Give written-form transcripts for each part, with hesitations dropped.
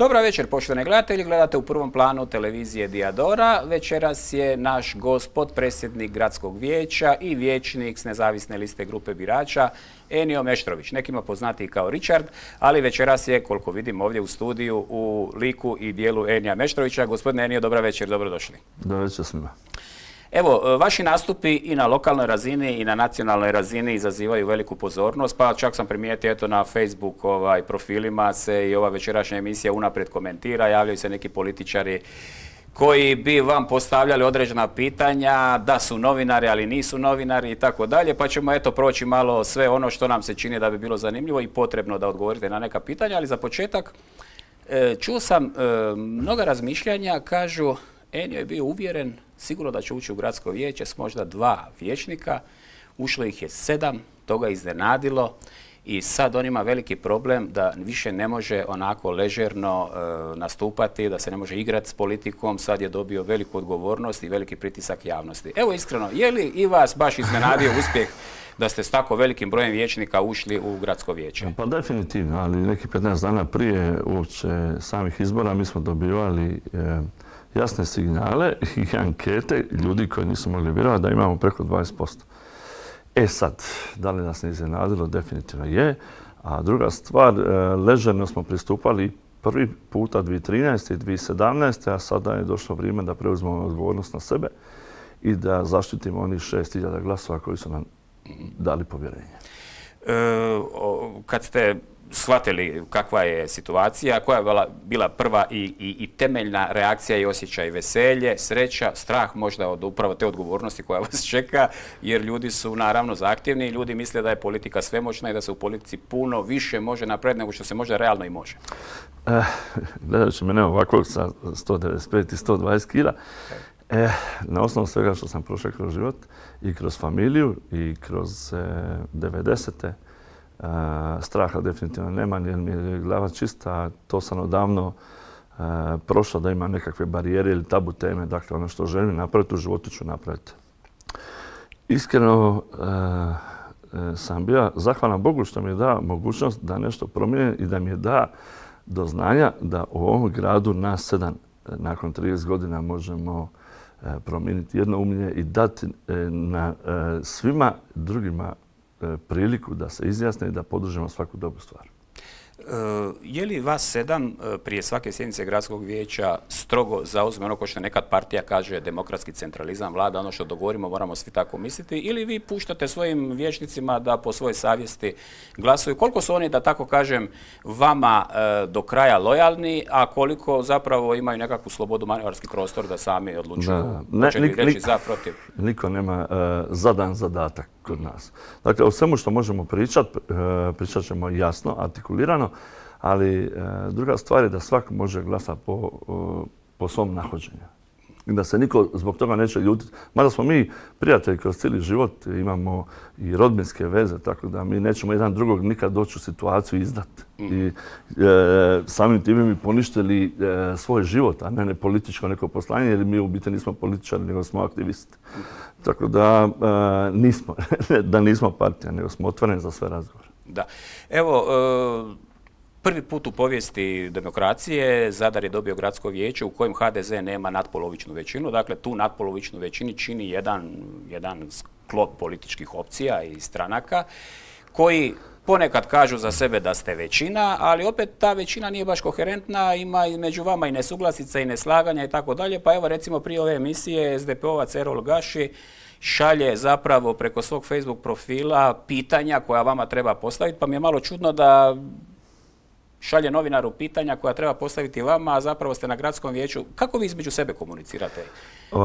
Dobra večer, poštovani gledatelji. Gledate u prvom planu televizije Diadora. Večeras je naš gost, potpredsjednik Gradskog vijeća i vijećnik s nezavisne liste grupe birača, Enio Meštrović. Nekima poznatiji kao Richard, ali večeras je, koliko vidim ovdje u studiju, u liku i dijelu Enija Meštrovića. Gospodine Enio, dobra večer, dobrodošli. Dobra večer svima. Evo, vaši nastupi i na lokalnoj razini i na nacionalnoj razini izazivaju veliku pozornost, pa čak sam primijetio eto na Facebook profilima se i ova večerašnja emisija unaprijed komentira, javljaju se neki političari koji bi vam postavljali određena pitanja, da su novinari, ali nisu novinari i tako dalje, pa ćemo eto proći malo sve ono što nam se čini da bi bilo zanimljivo i potrebno da odgovorite na neka pitanja, ali za početak čuo sam mnoga razmišljanja, kažu Enio je bio uvjeren sigurno da će ući u gradsko vijeće s možda 2 vijećnika, ušlo ih je 7, to ga iznenadilo i sad on ima veliki problem da više ne može onako ležerno nastupati, da se ne može igrati s politikom, sad je dobio veliku odgovornost i veliki pritisak javnosti. Evo iskreno, je li i vas baš iznenadio uspjeh da ste s tako velikim brojem vijećnika ušli u gradsko vijeće? Pa definitivno, ali neki 15 dana prije uopće samih izbora mi smo dobivali jasne signale i ankete ljudi koji nisu mogli vjerovati da imamo preko 20%. E sad, da li nas ne iznenadilo? Definitivno je. A druga stvar, ležerno smo pristupali prvi puta 2013. i 2017. a sada je došlo vrijeme da preuzmemo odgovornost na sebe i da zaštitimo onih 6.000 glasova koji su nam dali povjerenje. Kad ste shvatili kakva je situacija, koja je bila prva i temeljna reakcija i osjećaj veselje, sreća, strah možda od upravo te odgovornosti koja vas čeka, jer ljudi su naravno zahtjevni i ljudi misle da je politika svemoćna i da se u politici puno više može napraviti nego što se možda realno i može. Gledajući mene ovako sa 195 i 120 kila, na osnovu svega što sam prošao kroz život i kroz familiju i kroz 90-te, straha definitivno nema, jer mi je glava čista, to sam odavno prošao da ima nekakve barijere ili tabu teme, dakle ono što želim napraviti u životu ću napraviti. Iskreno sam bio zahvalan Bogu što mi je dao mogućnost da nešto promijenim i da mi je da do znanja da u ovom gradu nas 7 nakon 30 godina možemo promijeniti jednoumlje i dati na svima drugima priliku da se izjasne i da podržimo svaku dobru stvar. Je li vas 7 prije svake sjednice gradskog vijeća strogo zauzme ono ko što nekad partija kaže demokratski centralizam, vlada, ono što dogovorimo moramo svi tako misliti, ili vi puštate svojim vijećnicima da po svojoj savjesti glasuju? Koliko su oni, da tako kažem, vama do kraja lojalni, a koliko zapravo imaju nekakvu slobodu, manevarski prostor da sami odlučuju hoće li reći za, protiv? Niko nema zadan zadatak kod nas. Dakle, o svemu što možemo pričat ćemo jasno, artikulirano, ali druga stvar je da svak može glasati po svom nahođenju. Da se niko zbog toga neće ljutiti. Mada smo mi prijatelji kroz cijeli život, imamo i rodbinske veze, tako da mi nećemo jedan drugog nikad doći u situaciju izdati. I samim time mi poništili svoj život, a ne političko neko poslanje, jer mi u biti nismo političari, nego smo aktivisti. Tako da nismo partija, nego smo otvoreni za sve razgovore. Da. Evo, prvi put u povijesti demokracije Zadar je dobio gradsko vijeće u kojem HDZ nema natpolovičnu većinu. Dakle, tu natpolovičnu većinu čini jedan sklop političkih opcija i stranaka koji ponekad kažu za sebe da ste većina, ali opet ta većina nije baš koherentna, ima među vama i nesuglasica i neslaganja i tako dalje. Pa evo recimo prije ove emisije SDP-ovac Erol Gaši šalje zapravo preko svog Facebook profila pitanja koja vama treba postaviti, pa mi je malo čudno da šalje novinaru pitanja koja treba postaviti vama, a zapravo ste na gradskom vijeću. Kako vi između sebe komunicirate?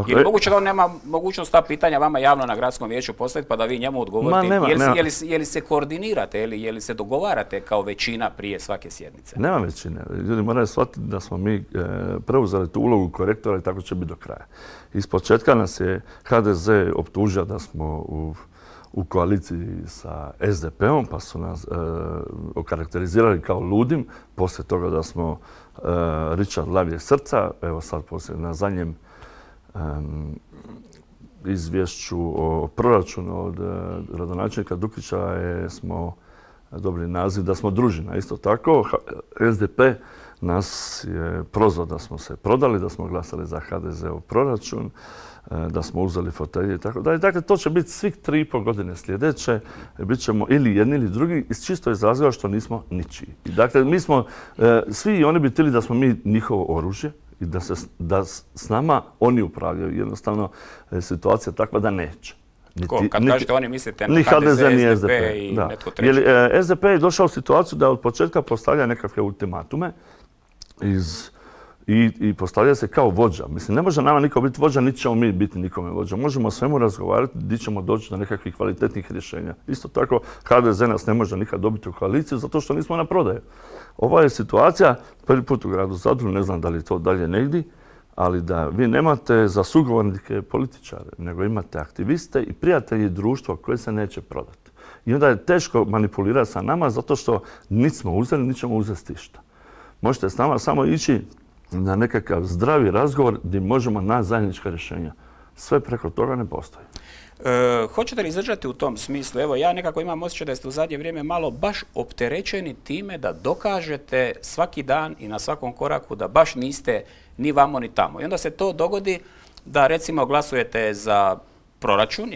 Je li moguće da on nema mogućnost ta pitanja vama javno na gradskom vijeću postaviti pa da vi njemu odgovorite? Je li se koordinirate, je li se dogovarate kao većina prije svake sjednice? Nema većine. Ljudi moraju shvatiti da smo mi preuzeli tu ulogu korektora i tako će biti do kraja. Ispočetka nas je HDZ optužio da smo u koaliciji sa SDP-om, pa su nas okarakterizirali kao ludim. Poslije toga da smo Richard lavije srca, evo sad poslije na zadnjem izvješću o proračunu od gradonačelnika Dukića smo dobili naziv da smo družina. Isto tako, SDP nas je prozvao da smo se prodali, da smo glasali za HDZ-ov proračun, da smo uzeli fotelje i tako dalje. Dakle, to će biti svih 3,5 godine sljedeće. Bit ćemo ili jedni ili drugi iz čisto iz razloga što nismo ničiji. Dakle, mi smo, svi oni bi htjeli da smo mi njihovo oružje i da s nama oni upravljaju. Jednostavno, situacija je takva da neće. Kad kažete oni, mislite na HDZ, ni SDP i netko treći? Jer SDP je došao u situaciju da od početka postavlja nekakve ultimatume i postavlja se kao vođa. Mislim, ne može nama niko biti vođa, niti ćemo mi biti nikome vođa. Možemo o svemu razgovarati, gdje ćemo doći do nekakvih kvalitetnih rješenja. Isto tako, HDZ nas ne može nikad dobiti u koaliciju zato što nismo na prodaju. Ova je situacija, prvi put u gradu Zadru, ne znam da li to dalje negdje, ali da vi nemate za sugovornike političare, nego imate aktiviste i prijatelji društva koje se neće prodati. I onda je teško manipulirati sa nama zato što niti smo uzeli, niti ćemo uzeti ništa. Možete s nama samo ići na nekakav zdravi razgovor gdje možemo naći zajednička rješenja. Sve preko toga ne postoji. Hoćete li izdržati u tom smislu? Evo, ja nekako imam osjećaj da ste u zadnje vrijeme malo baš opterećeni time da dokažete svaki dan i na svakom koraku da baš niste ni vamo ni tamo. I onda se to dogodi da recimo glasujete za proračun,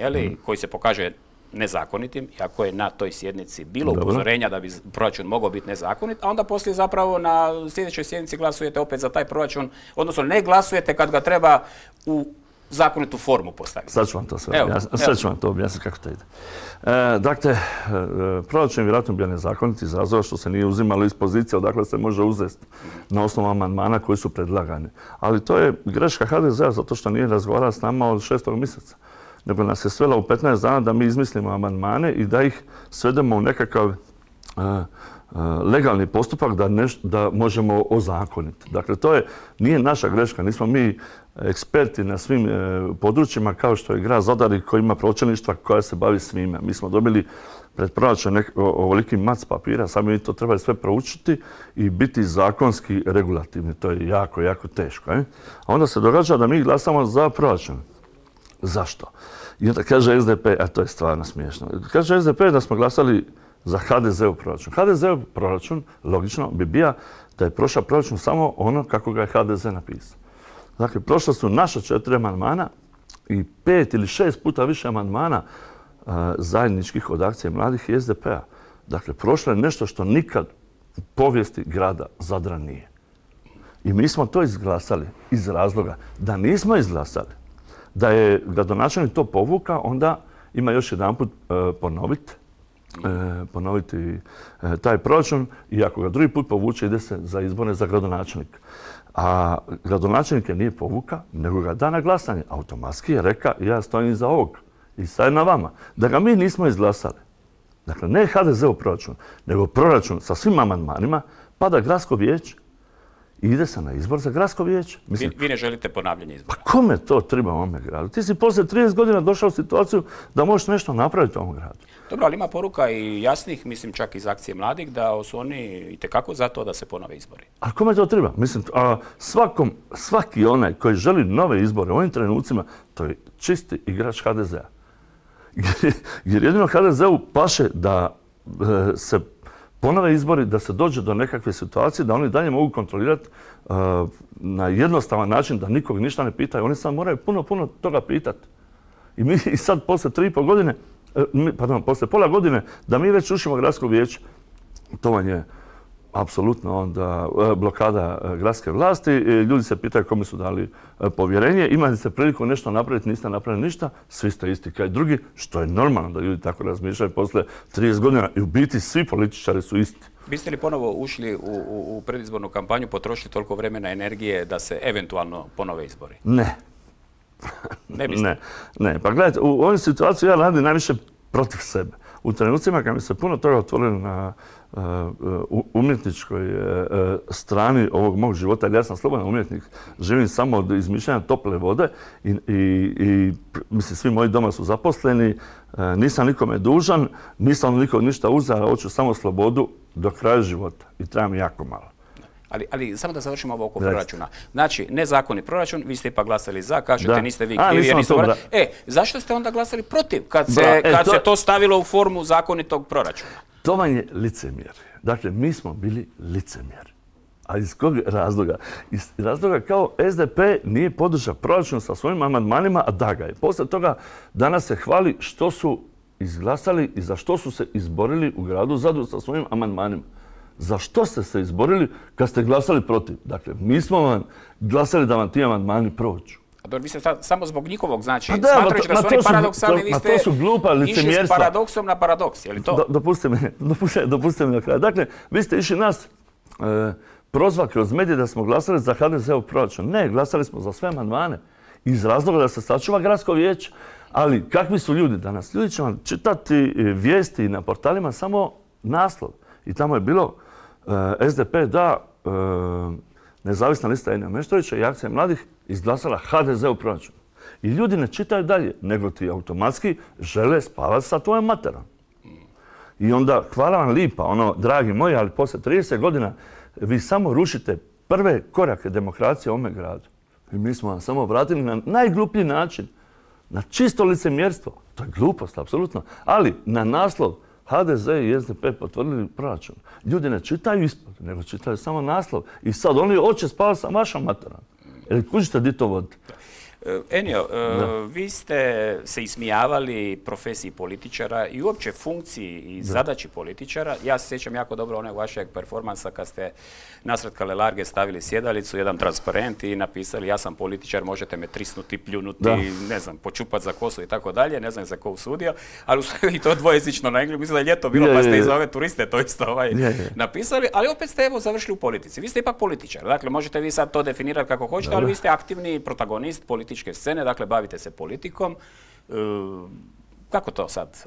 koji se pokaže nezakonitim, iako je na toj sjednici bilo upozorenja da bi proračun mogao biti nezakonit, a onda poslije zapravo na sljedećoj sjednici glasujete opet za taj proračun, odnosno ne glasujete kad ga treba u zakonitu formu postaviti. Sad ću vam to sve objasniti kako to ide. Dakle, proračun je vjerojatno bio nezakonit iz razloga što se nije uzimalo iz pozicije odakle se može uzeti na osnovu amandmana koji su predlagani. Ali to je greška HDZ-a zato što nije razgovarala s nama od 6. mjeseca. Nego nas je svela u 15 dana da mi izmislimo amandmane i da ih svedemo u nekakav legalni postupak da možemo ozakoniti. Dakle, to nije naša greška. Nismo mi eksperti na svim područjima kao što je grad Zadar koji ima pročelništva koja se bavi svime. Mi smo dobili pred proračun ovoliki mac papira, sad mi to trebali sve proučiti i biti zakonski regulativni. To je jako, jako teško. A onda se događa da mi glasamo za proračun. Zašto? I onda kaže SDP, a to je stvarno smiješno, kaže SDP da smo glasali za HDZ-ov proračun. HDZ-ov proračun, logično, bi bio da je prošao proračun samo ono kako ga je HDZ napisao. Dakle, prošla su naša 4 amandmana i 5 ili 6 puta više amandmana zajedničkih od akcije mladih i SDP-a. Dakle, prošlo je nešto što nikad u povijesti grada Zadra nije. I mi smo to izglasali iz razloga da nismo izglasali. Da je gradonačelnik to povuka, onda ima još jedanput ponoviti taj proračun i ako ga drugi put povuče ide se za izbore za gradonačelnika. A gradonačelnik je nije povuka, nego ga da na glasanje. Automatski je rekao ja stojim iza ovog i sad je na vama. Da ga mi nismo izglasali. Dakle, ne HDZ-ov proračun, nego proračun sa svim amandmanima, pada gradsko vijeće. I ide se na izbor za gradsko vijeće. Vi ne želite ponavljanje izbora? Pa kome to treba u ovome gradu? Ti si poslije 30 godina došao u situaciju da možeš nešto napraviti u ovom gradu. Dobro, ali ima poruka i jasnih, mislim čak iz akcije mladih, da su oni itekako za to da se ponove izbori. A kome to treba? Mislim, svaki onaj koji želi nove izbore u ovim trenucima, to je čisti igrač HDZ-a. Jer jedino HDZ-u paše da se ponove izbori, da se dođe do nekakve situacije, da oni dalje mogu kontrolirati na jednostavan način, da nikog ništa ne pitaju. Oni sad moraju puno toga pitati. I mi sad poslije 3,5 godine, poslije pola godine, da mi već rušimo gradsko vijeće. To vam je apsolutno onda blokada gradske vlasti. Ljudi se pitaju kome su dali povjerenje. Imali ste priliku nešto napraviti, niste napravili ništa. Svi ste isti kao i drugi, što je normalno da ljudi tako razmišljaju poslije 30 godina. I u biti svi političari su isti. Biste li ponovo ušli u predizbornu kampanju, potrošili toliko vremena i energije da se eventualno ponove izbori? Ne. Ne biste? Ne. Pa gledajte, u ovoj situaciji ja radim najviše protiv sebe. U trenucima kad mi se puno toga otvorilo na umjetničkoj strani ovog mog života, jer ja sam slobodan umjetnik, živim samo od izmišljanja tople vode i mislim, svi moji doma su zaposleni, nisam nikome dužan, nisam nikog ništa uzeo, hoću samo slobodu do kraja života i trebam jako malo. Ali samo da završimo ovo oko proračuna. Znači, nezakonit proračun, vi ste ipak glasali za, kažete niste vi krivi jer niste zašto ste onda glasali protiv kad se to stavilo u formu zakonitog proračuna? To vam je licemjer. Dakle, mi smo bili licemjeri. A iz kog razloga? Iz razloga kao SDP nije podržao proračun sa svojim amandmanima, a da ga je. Poslije toga danas se hvali što su izglasali i za što su se izborili u gradu Zadru sa svojim amandmanima. Za što ste se izborili kad ste glasali protiv? Dakle, mi smo vam glasali da vam ti amandmani prođu. Vi ste samo zbog njihovog, znači, smatrajući da su oni paradoksalni, vi ste išli s paradoksom na paradoks, je li to? Dopustite mi na kraju. Dakle, vi ste išli nas prozvati kroz medije da smo glasali za HDZ-ov proračun. Ne, glasali smo za sve amandmane iz razloga da se sačuva gradsko vijeće. Ali kakvi su ljudi danas? Ljudi će vam čitati vijesti na portalima samo naslov. I tamo je bilo SDP da nezavisna lista Enija Meštrovića i Akcija mladih izglasala HDZ-ov proračun. I ljudi ne čitaju dalje, nego ti automatski žele spavati sa tvojom materom. I onda, hvala vam lipa, dragi moji, ali poslije 30 godina vi samo rušite prve korake demokracije u ovome gradu. I mi smo vam samo vratili na najgluplji način, na čisto licemjerstvo. To je glupost, apsolutno. Ali na naslov HDZ i SDP potvrdili proračun. Ljudi ne čitaju ispod, nego čitaju samo naslov. I sad oni hoće spavati sa vašom materom. Jer kužite di to vodite. Enio, vi ste se ismijavali profesiji političara i uopće funkciji i zadaći političara. Ja se sjećam jako dobro onog vašeg performansa kad ste nasred Kalelarge stavili sjedalicu, jedan transparent i napisali ja sam političar, možete me trisnuti, pljunuti, ne znam, počupati za kosu i tako dalje, ne znam za ko usudio, ali i to dvojezično na engleskom, mislim da je ljeto bilo pa ste i za ove turiste to isto napisali, ali opet ste evo završili u politici. Vi ste ipak političar, dakle možete vi sad to definirati kako hoćete, ali vi ste aktivni protagonist političke scene, dakle bavite se politikom. Kako to sad?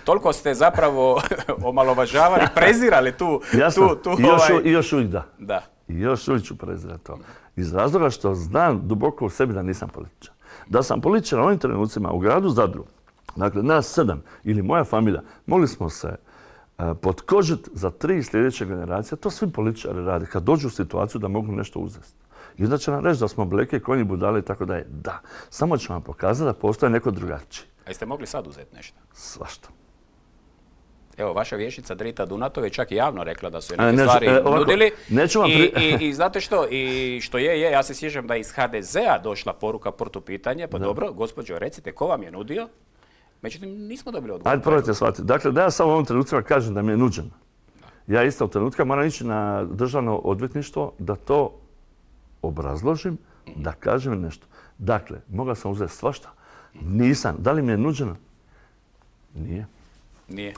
Toliko ste zapravo omalovažavali, prezirali tu... I još uvijek da. I još uvijek ću prezirati to. Iz razloga što znam duboko u sebi da nisam političar. Da sam političar u ovim trenucima u gradu Zadru, dakle nas 7 ili moja familija, mogli smo se potkožiti za 3 sljedeće generacije. To svi političari rade kad dođu u situaciju da mogu nešto uzeti. I onda će nam reći da smo bleke, konji, budale i tako dalje. Da, samo ću vam pokazati da postoje neko drugačiji. A jeste mogli sad uzeti nešto? Svašta. Evo, vaša vijećnica Drita Dunatov je čak i javno rekla da su je neke stvari nudili. I znate što? I što ja se sjećam da je iz HDZ-a došla poruka protupitanje, pa dobro, gospođo, recite, ko vam je nudio? Međutim, nismo dobili odgovor. Ajde, probajte shvatiti. Dakle, da ja samo u ovom trenutku kažem da mi je nuđeno. Ja isto u trenutku moram ići na državno odvjetništvo da to obrazložim, da kažem nešto. Dakle, mogao sam uzeti svašta. Nisam. Da li mi je nuđeno? Nije. Nije.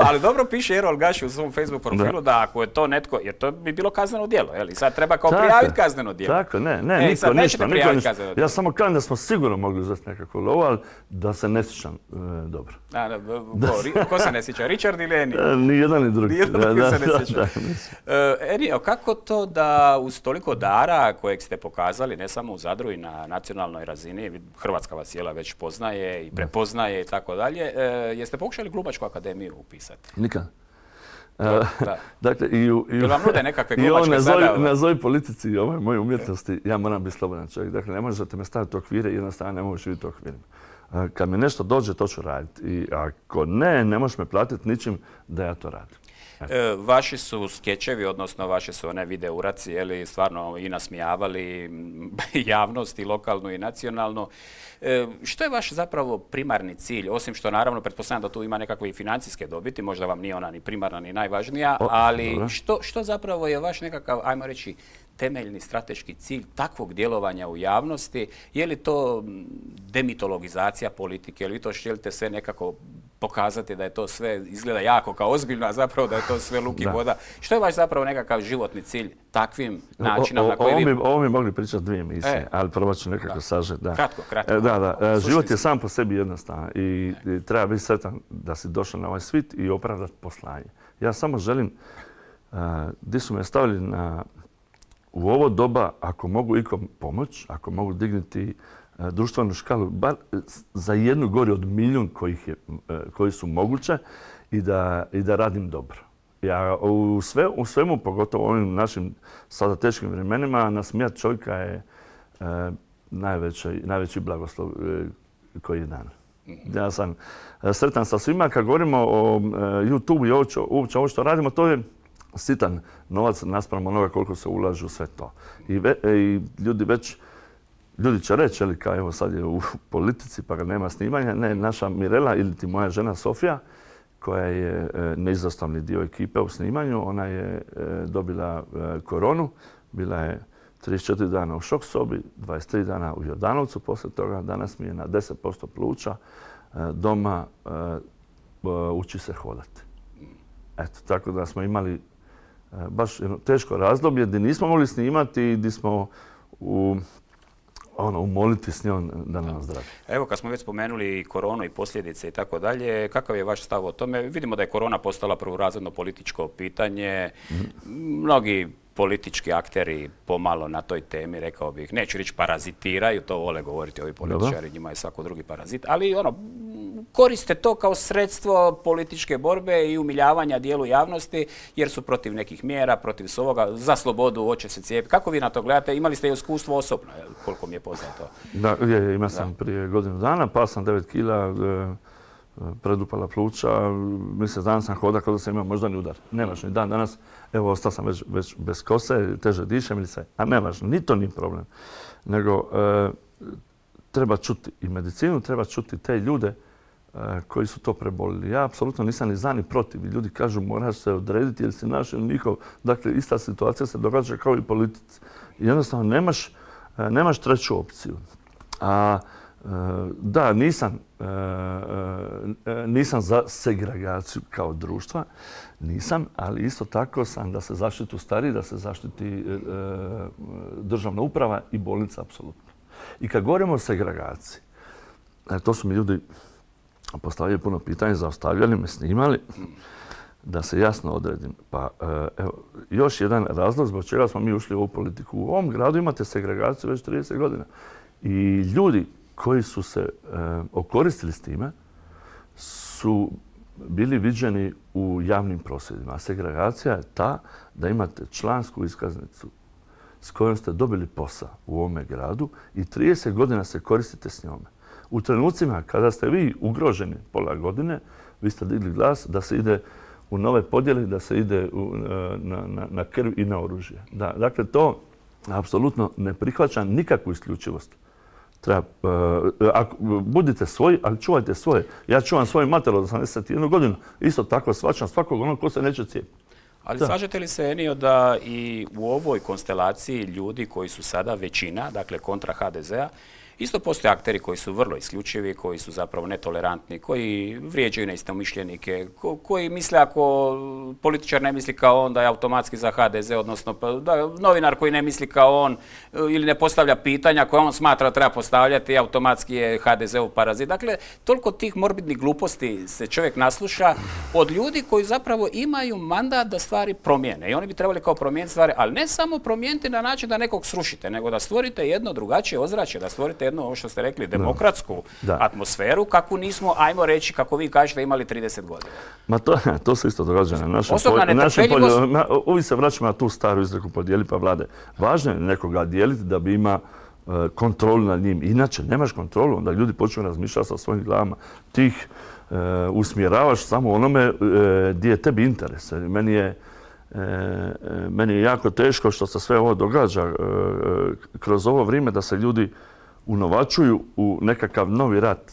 Ali dobro piše Erol Gaši u svom Facebook profilu da ako je to netko, jer to bi bilo kazneno djelo, i sad treba kao prijaviti kazneno djelo. Tako, niko ništa. Ja samo kažem da smo sigurno mogli uzeti nekako lovo, ali da se ne sjećam dobro. Ko se ne sjeća? Richard ili Eni? Ni jedan ni drugi. Nijedno se ne sjeća. Eni, kako to da uz toliko dara kojeg ste pokazali, ne samo u Zadru i na nacionalnoj razini, Hrvatska vas cijela već poznaje i prepoznaje i tako dalje, jeste pokušali Glubačku akademiju upisati? Nikad. Dakle, Jel vam nude nekakve glubačke sada? Nazovi politici i ovoj moje umjetnosti, ja moram biti slobodan čovjek. Dakle, ne možete me staviti u okvire i jednostavno ne mogu živjeti u okvirima. Kad mi nešto dođe, to ću raditi. I ako ne možeš me platiti ničim da ja to radim. Vaši su skečevi, odnosno vaše su one video uraci, stvarno i nasmijavali javnost i lokalnu i nacionalnu. Što je vaš zapravo primarni cilj, osim što naravno pretpostavljam da tu ima nekakve i financijske dobiti, možda vam nije ona ni primarna ni najvažnija, ali što zapravo je vaš nekakav, ajmo reći, temeljni strateški cilj takvog djelovanja u javnosti? Je li to demitologizacija politike, ili vi to želite sve nekako pokazati da je to sve izgleda jako kao ozbiljno, a zapravo da je to sve luk i voda? Što je vaš zapravo nekakav životni cilj takvim načinom na koji vi... Ovo mi mogli pričati 2 emisije, ali probat ću nekako sažeti. Kratko. Život je sam po sebi jednostavan i treba biti sretan da si došao na ovaj svit i opravdati poslanje. Ja samo želim, gdje su me stavili u ovo doba, ako mogu ikom pomoć, ako mogu dignuti društvenu škalu, bar za jednu gori od milijun koji su moguće i da radim dobro. Ja u svemu, pogotovo u ovim našim sada teškim vremenima, nasmijat čovjeka je najveći blagoslov koji je dan. Ja sam sretan sa svima. Kad govorimo o YouTube i uopće ovo što radimo, to je sitan novac naspram onoga koliko se ulažu u sve to. I ljudi će reći, kao evo sad je u politici pa ga nema snimanja. Ne, naša Mirela ili ti moja žena Sofija, koja je neizostavni dio ekipe u snimanju, ona je dobila koronu. Bila je 34 dana u šok sobi, 23 dana u Jordanovcu poslije toga. Danas mi je na 10% pluća doma, uči se hodati. Eto, tako da smo imali baš jedno teško razdoblje gdje nismo mogli snimati i gdje smo umoliti s njom da nam zdravi. Evo, kad smo već spomenuli koronu i posljedice i tako dalje, kakav je vaš stav o tome? Vidimo da je korona postala prvorazredno političko pitanje. Mnogi politički akteri pomalo na toj temi, rekao bih, neću reći parazitiraju, to vole govoriti ovi političari, njima je svako drugi parazit, ali koriste to kao sredstvo političke borbe i umiljavanja dijelu javnosti jer su protiv nekih mjera, protiv svoga, za slobodu, hoće se cijepiti. Kako vi na to gledate? Imali ste iskustvo osobno, koliko mi je poznato? Da, imao sam prije godinu dana, pao sam 9 kila, predupala pluća, mjesec dana sam hodao kao da sam imao moždani udar. Nevažno, i dan danas, evo, ostao sam već bez kose, teže dišem ili sve. A nevažno, ni to nije problem. Nego treba čuti i medicinu, treba čuti te ljude koji su to prebolili. Ja apsolutno nisam ni za ni protiv. Ljudi kažu moraš se odrediti jer si naš ili njihov. Dakle, ista situacija se događa kao i politici. Jednostavno nemaš treću opciju. Da, nisam za segregaciju kao društva, nisam, ali isto tako sam da se zaštitu stariji, da se zaštiti državna uprava i bolnica apsolutno. I kad govorimo o segregaciji, to su mi ljudi postavljaju puno pitanja, zaustavljali me, snimali, da se jasno odredim. Pa evo, još jedan razlog zbog čega smo mi ušli u ovu politiku. U ovom gradu imate segregaciju već 30 godina. I ljudi koji su se okoristili s time su bili viđeni u javnim prosvjedima. A segregacija je ta da imate člansku iskaznicu s kojom ste dobili posao u ovome gradu i 30 godina se koristite s njome. U trenucima kada ste vi ugroženi pola godine, vi ste digli glas da se ide u nove podjele, da se ide na krv i na oružje. Dakle, to apsolutno ne prihvaća nikakvu isključivost. Budite svoji, ali čuvajte svoje. Ja čuvam svoju mater od 81 godinu. Isto tako shvaćam svakog onog ko se neće cijepiti. Ali slažete li se, Enio, da i u ovoj konstelaciji ljudi koji su sada većina, dakle kontra HDZ-a, isto postoje akteri koji su vrlo isključivi, koji su zapravo netolerantni, koji vrijeđaju neistomišljenike, koji misle ako političar ne misli kao on da je automatski za HDZ, odnosno da novinar koji ne misli kao on ili ne postavlja pitanja koje on smatra da treba postavljati, automatski je HDZ-ov parazit. Dakle, toliko tih morbidnih gluposti se čovjek nasluša od ljudi koji zapravo imaju mandat da stvari promijene. I oni bi trebali kao promijeniti stvari, ali ne samo promijeniti na način da nekog srušite, nego da stvorite jedno drugačije ozračje, da stvorite jednu, ovo što ste rekli, demokratsku atmosferu, kakvu nismo, ajmo reći, kako vi kažete, imali 30 godina. Ma to se isto događa na našem polju. Uvijek se vraćamo na tu staru izreku podijeli pa vlade. Važno je nekoga dijeliti da bi ima kontrolu nad njim. Inače, nemaš kontrolu, onda ljudi počnu razmišljati sa svojim glavama. Ti ih usmjeravaš samo onome gdje je tebi interes. Meni je jako teško što se sve ovo događa kroz ovo vrijeme da se ljudi unovačuju u nekakav novi rat.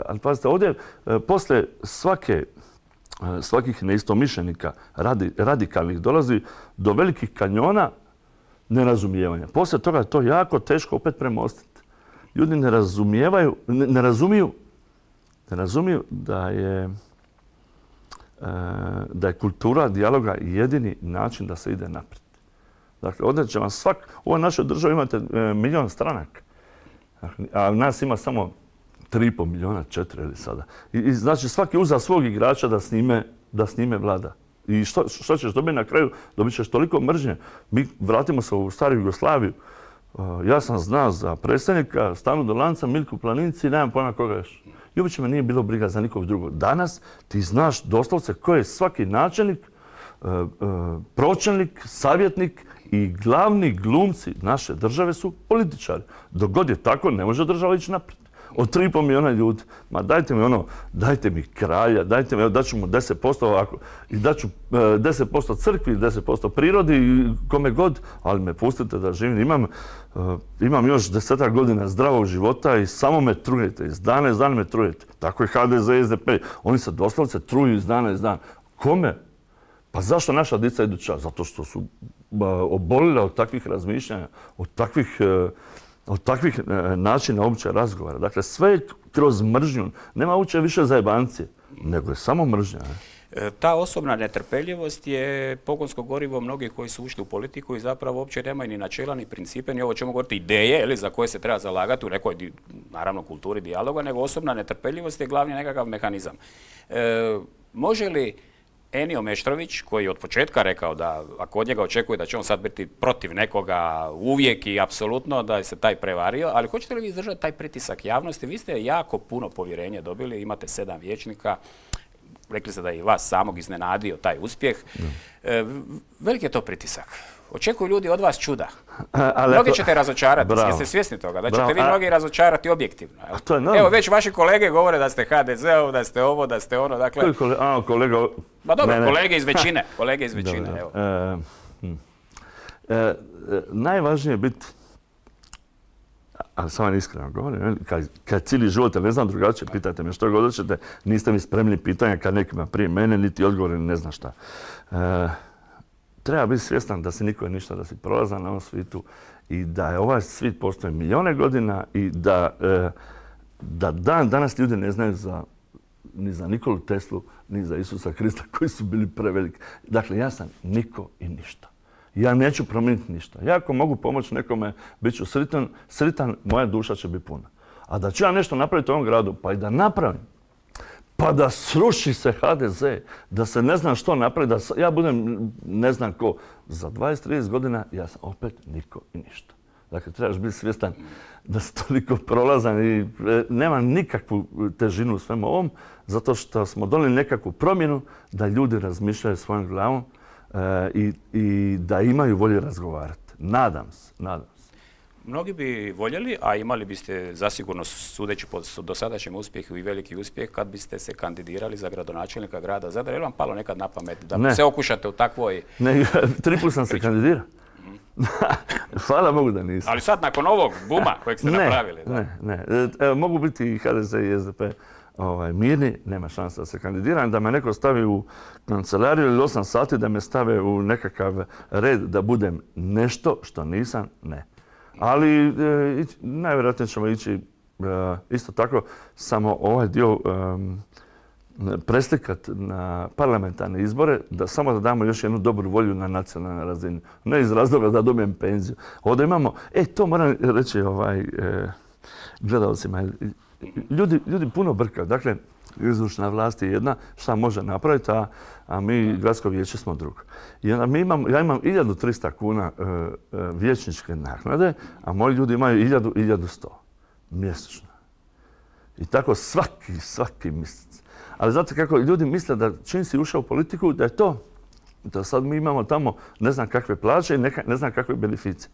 Ali pazite, ovdje poslije svakih neistomišljenika radikalnih dolazi do velikih kanjona nerazumijevanja. Poslije toga je to jako teško opet premostiti. Ljudi ne razumiju da je kultura dijaloga jedini način da se ide naprijed. Dakle, ovdje će vam u ovoj našoj državi imate 1 milion stranaka. A nas ima samo 3,5 miliona, 4 ili sada. I znači svaki uza svog igrača da s njime vlada. I što ćeš dobiti na kraju? Dobit ćeš toliko mržnje. Mi vratimo se u staru Jugoslaviju. Ja sam znao za predsjednika Stanu Dolanca, Milku Planinci i nemam pojma koga još. I uopće me nije bilo briga za nikog drugog. Danas ti znaš doslovce ko je svaki načelnik, pročelnik, savjetnik i glavni glumci naše države su političari. Dok god je tako, ne može država ići naprijed. Od 3,5 milijuna ljudi. Ma dajte mi dajte mi kralja, dajte mi, daću mu 10%, i daću 10% crkvi, 10% prirodi, kome god, ali me pustite da živim. Imam još 10 godina zdravog života i samo me trujete, iz dana me trujete. Tako je HDZ i SDP. Oni se doslovce truju iz dana. Kome? Pa zašto naša djeca idu čas? Zato što su obolile od takvih razmišljanja, od takvih načina uopće razgovora. Dakle, sve je kroz mržnju. Nema uopće više zajebancije, nego je samo mržnja. Ta osobna netrpeljivost je pogonsko gorivo mnogih koji su ušli u politiku i zapravo uopće nemaju ni načela, ni principe, ni ovo ćemo govoriti ideje za koje se treba zalagati u nekoj, naravno, kulturi dijaloga, nego osobna netrpeljivost je glavni nekakav mehanizam. Može li Enio Meštrović, koji je od početka rekao da ako od njega očekuje da će on sad biti protiv nekoga uvijek i apsolutno da je se taj prevario, ali hoćete li vi izdržati taj pritisak javnosti? Vi ste jako puno povjerenja dobili, imate 7 vijećnika, rekli ste da je i vas samog iznenadio taj uspjeh. Veliki je to pritisak. Očekuju ljudi od vas čuda. Mnogi ćete razočarati, jeste svjesni toga, da ćete vi mnogi razočarati objektivno. Evo, već vaši kolege govore da ste HDZ-ov, da ste ovo, da ste ono, dakle... Kolega... Ma dobro, kolege iz većine, evo. Najvažnije je biti, ali samo iskreno govorim, kad cijeli život, ne znam drugačije, pitajte me što god hoćete, niste mi spremni pitanja kad nekima prije mene, niti odgovori, ne znam šta. Treba biti svjestan da si niko ništa, da si prolazan na ovom svijetu i da je ovaj svijet postoji milijone godina i da danas ljudi ne znaju ni za Nikolu Teslu, ni za Isusa Krista koji su bili preveliki. Dakle, ja sam niko i ništa. Ja neću promijeniti ništa. Ja ako mogu pomoći nekome, bit ću sritan, moja duša će biti puna. A da ću ja nešto napraviti u ovom gradu, pa i da napravim, pa da sruši se HDZ, da se ne znam što napravi, da ja budem ne znam ko. Za 20-30 godina ja sam opet niko i ništa. Dakle, trebaš biti svjestan da si toliko prolazan i nema nikakvu težinu u svemu ovom, zato što smo donijeli nekakvu promjenu da ljudi razmišljaju svojom glavom i da imaju volje razgovarati. Nadam se. Mnogi bi voljeli, a imali biste zasigurno, sudeći po dosadašnjem uspjehu i veliki uspjeh, kad biste se kandidirali za gradonačelnika grada Zadra. Je li vam palo nekad na pamet da se okušate u takvoj... Ne, 3 puta sam se kandidirao. Hvala Bogu da nisam. Ali sad nakon ovog buma kojeg ste napravili. Ne. Mogu biti i HDZ i SDP mirni, nema šanse da se kandidiram, da me neko stavi u kancelariju ili 8 sati, da me stave u nekakav red da budem nešto što nisam, ne. Ali najvjerojatnije ćemo ići isto tako, samo ovaj dio preslikati na parlamentarne izbore, samo da damo još jednu dobru volju na nacionalnoj razini. Ne iz razloga da dobijem penziju. Ovdje imamo, to moram reći gledalcima, ljudi puno brkaju. Dakle, izvršna vlast je jedna, šta može napraviti, a mi gradsko vijeće smo drugo. Ja imam 1300 kuna vijećničke naknade, a moji ljudi imaju 1100 mjesečno. I tako svaki mjesec. Ali znate kako ljudi misle da čim si ušao u politiku, da je to, da sad mi imamo tamo ne znam kakve plaće i ne znam kakve beneficije.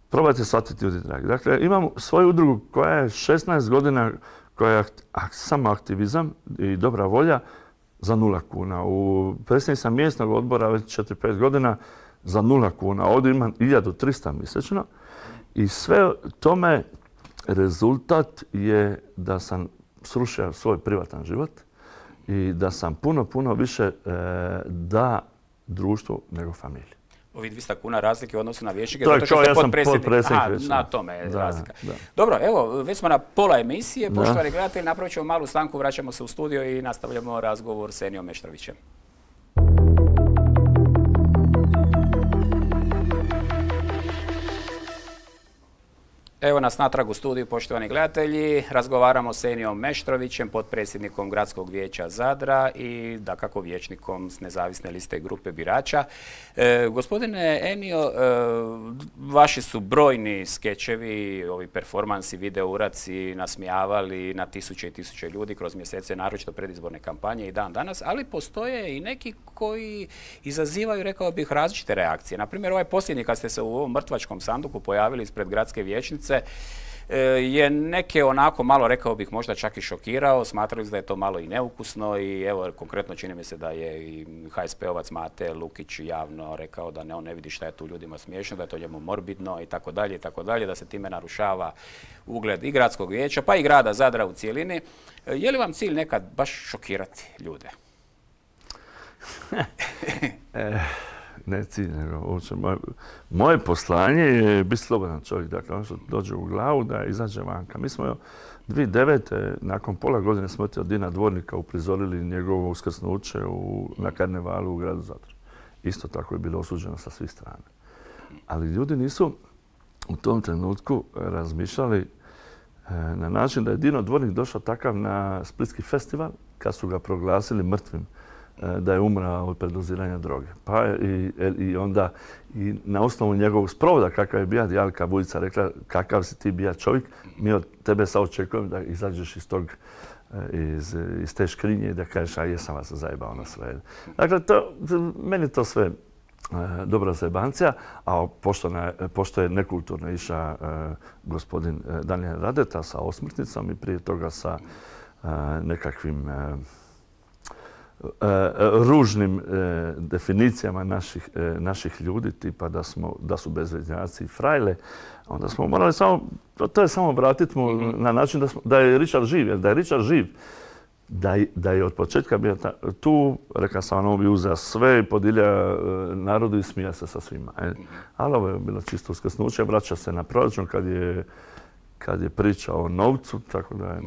Probajte shvatiti, ljudi dragi. Dakle, imam svoju udrugu koja je 16 godina, koja je samo aktivizam i dobra volja za 0 kuna. Predsjednik sam mjesnog odbora već 4-5 godina za 0 kuna. Ovdje imam 1300 mjesečno i sve tome rezultat je da sam srušio svoj privatan život i da sam puno više da društvu nego familiji. Ovi 200 kuna razlike u odnosu na vijećnike, zato što ste potpredsjednik. Na tome je razlika. Dobro, evo, već smo na pola emisije. Poštovani gledatelji, napravit ćemo malu stanku, vraćamo se u studio i nastavljamo razgovor s Enijom Meštrovićem. Evo nas natrag u studiju, poštovani gledatelji. Razgovaramo s Enijom Meštrovićem, potpredsjednikom Gradskog vijeća Zadra i dakako vijećnikom s nezavisne liste grupe birača. Gospodine Enio, vaši su brojni skečevi, ovi performansi, video uraci nasmijavali na tisuće i tisuće ljudi kroz mjesece, naročito predizborne kampanje i dan danas, ali postoje i neki koji izazivaju, rekao bih, različite reakcije. Na primjer, ovaj posljednji kad ste se u ovom mrtvačkom sanduku pojavili ispred gradske vijećnice, je neke onako malo, rekao bih, možda čak i šokirao, smatrali da je to malo i neukusno i evo, konkretno čini mi se da je i HSP-ovac Mate Lukić javno rekao da on ne vidi šta je tu ljudima smiješno, da je to njemu morbidno i tako dalje, da se time narušava ugled i gradskog vijeća, pa i grada Zadra u cijelini. Je li vam cilj nekad baš šokirati ljude? Ne cilj, nego moje poslanje je biti slobodan čovjek. Dakle, ono što dođe u glavu da izađe vanka. Mi smo 2009. nakon pola godine smrti od Dina Dvornika uprizorili njegovo uskrsnuće na karnevalu u gradu Zadru. Isto tako je bilo osuđeno sa svih strana. Ali ljudi nisu u tom trenutku razmišljali na način da je Dino Dvornik došao takav na Splitski festival kad su ga proglasili mrtvim, da je umrao od predoziranja droge. Pa i onda i na osnovu njegovog sprovoda kakav je bija, Jalka Vujica rekla kakav si ti bija čovjek, mi od tebe sad očekujemo da izađeš iz te škrinje i da kažeš a jesam vas zajebao na sve. Dakle, meni to sve dobra zajebancija, a pošto je nekulturno išao gospodin Daniel Radeta sa osmrtnicom i prije toga sa nekakvim ružnim definicijama naših ljudi, tipa da su bezveznjaci i frajle, onda smo morali to je samo vratiti mu na način da je Richard živ, jer da je Richard živ, da je od početka bio tu, rekao sam, on bi uzeo sve i podilja narodu i smija se sa svima. Ali ovo je bilo čisto uskrsnuće, vraća se na proračun kad je pričao o novcu, tako da je